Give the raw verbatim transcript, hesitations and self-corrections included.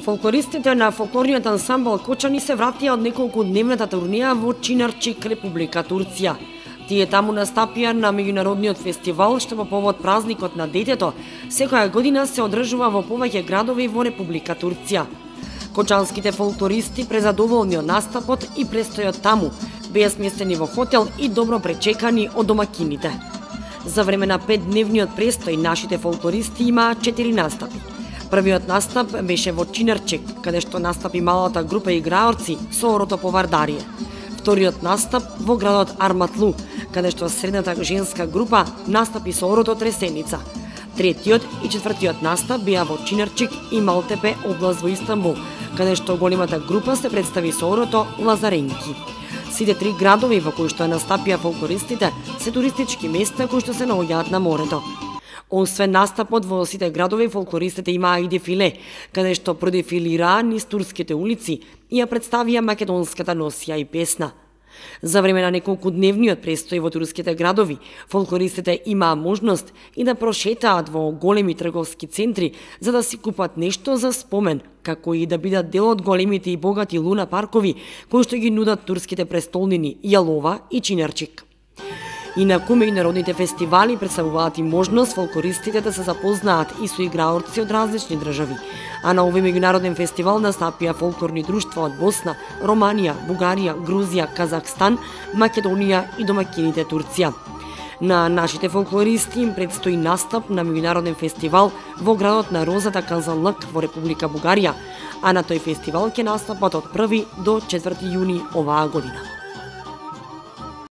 Фолклористите на фолклорниот ансамбл Кочани се вратија од неколку дневната турнеја во Чинарчик, Република Турција. Тие таму настапија на меѓународниот фестивал што по повод празникот на детето секоја година се одржува во повеќе градови во Република Турција. Кочанските фолклористи презадоволни од настапот и престојот таму, беа сместени во хотел и добро пречекани од домакините. За време на петдневниот престој нашите фолклористи имаа четири настапи. Првиот настап беше во Чинарчик, каде што настапи малата група играорци со орото по Вардарие. Вториот настап во градот Арматлу, каде што средната женска група настапи со орото Тресеница. Третиот и четвртиот настап беа во Чинарчик и Малтепе, област во Истанбул, каде што големата група се представи со орото Лазаренки. Сите три градови во кои што настапија фолклористите се туристички места кои што се наоѓаат на морето. Освен настапот во сите градови, фолклористите имаа и дефиле, каде што продефилираа низ турските улици и ја представија македонската носија и песна. За време на неколку дневниот престој во турските градови, фолклористите имаа можност и да прошетаат во големи трговски центри за да си купат нешто за спомен, како и да бидат дел од големите и богати луна паркови кои што ги нудат турските престолнини Јалова и Чинарчик. Инаку меѓународните фестивали представуваат и можност фолклористите да се запознаат и со играорци од различни држави, а на овој меѓународен фестивал настапија фолклорни друштва од Босна, Романија, Бугарија, Грузија, Казахстан, Македонија и домакините Турција. На нашите фолклористи им предстои настап на меѓународен фестивал во градот на Розата Казанлык во Република Бугарија, а на тој фестивал ќе настапат од први до четврти јуни оваа година.